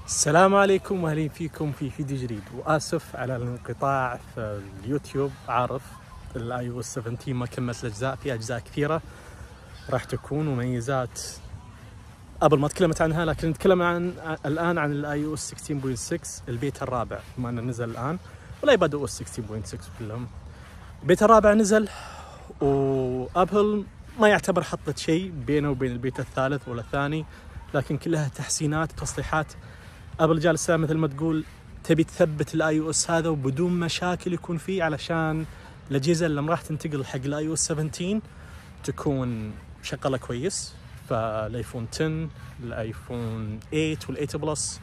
السلام عليكم واهلين فيكم في فيديو جديد، واسف على الانقطاع في اليوتيوب. عارف الاي او اس 17 ما كملت الاجزاء، في اجزاء كثيره راح تكون مميزات قبل ما تكلمت عنها، لكن نتكلم الان عن الاي او اس 16.6 البيتا الرابع، بما انه نزل الان ولا يبدأ او اس 16.6 كلهم. البيتا الرابع نزل، وابل ما يعتبر حطت شيء بينه وبين البيتا الثالث ولا الثاني، لكن كلها تحسينات وتصليحات. ابل جالسه مثل ما تقول تبي تثبت الاي او اس هذا وبدون مشاكل يكون فيه، علشان الاجهزه اللي راح تنتقل حق الاي او اس 17 تكون شغاله كويس. فالايفون 10 الايفون 8 وال8 بلس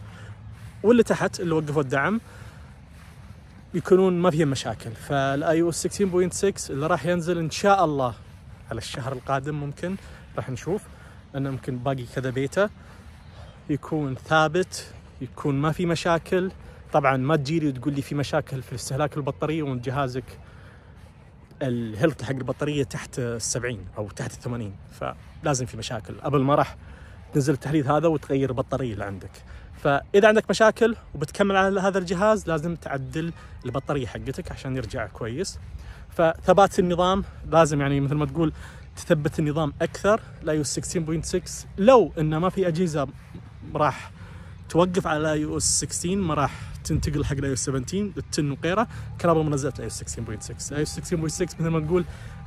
واللي تحت اللي وقفوا الدعم يكونون ما فيهم مشاكل. فالاي او اس 16.6 اللي راح ينزل ان شاء الله على الشهر القادم، ممكن راح نشوف، لانه ممكن باقي كذا بيتا، يكون ثابت، يكون ما في مشاكل. طبعا ما تجيلي وتقول لي في مشاكل في استهلاك البطاريه وانت جهازك الهيلث حق البطاريه تحت 70 او تحت 80، فلازم في مشاكل. قبل ما راح تنزل التحديث هذا وتغير البطاريه اللي عندك. فاذا عندك مشاكل وبتكمل على هذا الجهاز لازم تعدل البطاريه حقتك عشان يرجع كويس. فثبات النظام لازم، يعني مثل ما تقول تثبت النظام اكثر. الاي او اس 16.6 لو انه ما في اجهزه راح توقف على الاي او اس 16، ما راح تنتقل حق الاي او اس 17 التن وغيره، كان قبل ما نزلت الاي او اس 16.6. الاي او اس 16.6 مثل ما تقول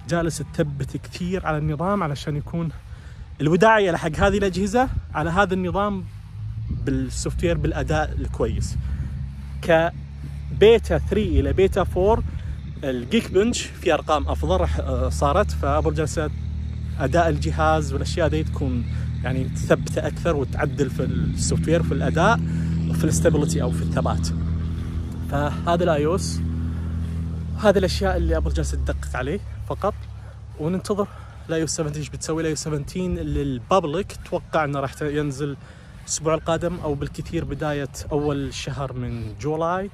جالس تثبت كثير على النظام علشان يكون الوداعيه لحق هذه الاجهزه على هذا النظام بالسوفت وير بالاداء الكويس. كبيتا 3 الى بيتا 4 الجيك بنش في ارقام افضل راح صارت، فابل جالسه اداء الجهاز والاشياء دي تكون يعني تثبته اكثر وتعدل في السوفت وير في الاداء وفي الاستابيليتي او في الثبات. فهذا الاي او اس، هذه الاشياء اللي ابل جالسه تدقق عليه فقط، وننتظر الاي او اس 17 ايش بتسوي. الاي او اس 17 للبابليك اتوقع انه راح ينزل الاسبوع القادم او بالكثير بدايه اول شهر من جولاي.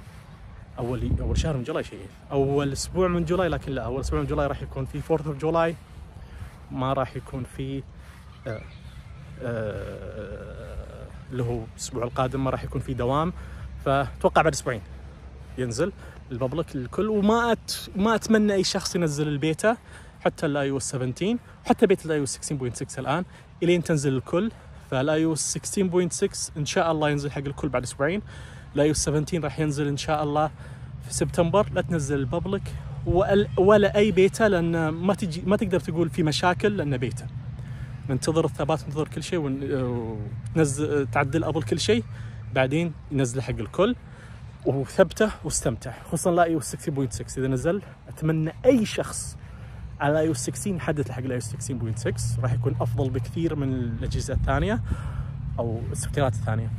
اول شهر من جولاي شيء اول اسبوع من جولاي، لكن لا، اول اسبوع من جولاي راح يكون في 4 جولاي، ما راح يكون في اللي هو الاسبوع القادم ما راح يكون في دوام. فاتوقع بعد اسبوعين ينزل الببليك للكل. وما اتمنى اي شخص ينزل البيتا، حتى الاي او اس 17 حتى بيتا الاي او اس 16.6 الان الين تنزل الكل. فالاي او اس 16.6 ان شاء الله ينزل حق الكل بعد اسبوعين. الاي او اس 17 راح ينزل ان شاء الله في سبتمبر. لا تنزل الببليك ولا اي بيتا، لان ما تقدر تقول في مشاكل، لانه بيتا. ننتظر الثبات، ننتظر كل شيء، وننزل تعدل ابل كل شيء، بعدين ينزله حق الكل وثبته واستمتع. خصوصا الاي او 16.6 اذا نزل، اتمنى اي شخص على الاي او 16 يحدث حق الاي او 16.6، راح يكون افضل بكثير من الاجهزه الثانيه او السوفتويرات الثانيه.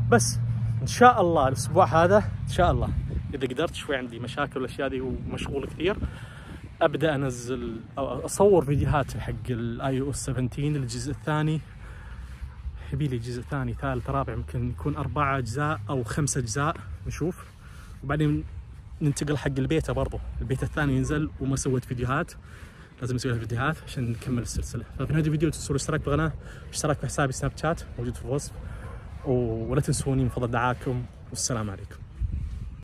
بس ان شاء الله الاسبوع هذا ان شاء الله اذا قدرت، شوي عندي مشاكل والاشياء دي ومشغول كثير، ابدا انزل او اصور فيديوهات حق الاي او اس 17 الجزء الثاني. يبي لي جزء ثاني ثالث رابع، يمكن يكون 4 اجزاء او 5 اجزاء، نشوف. وبعدين ننتقل حق البيتا، برضو البيتا الثاني ينزل وما سويت فيديوهات، لازم اسوي لها فيديوهات عشان نكمل السلسله. ففي نهايه الفيديو تنسوا الاشتراك بالقناه، اشتراك في حسابي سناب شات موجود في الوصف، ولا تنسوني من فضل دعاكم، والسلام عليكم.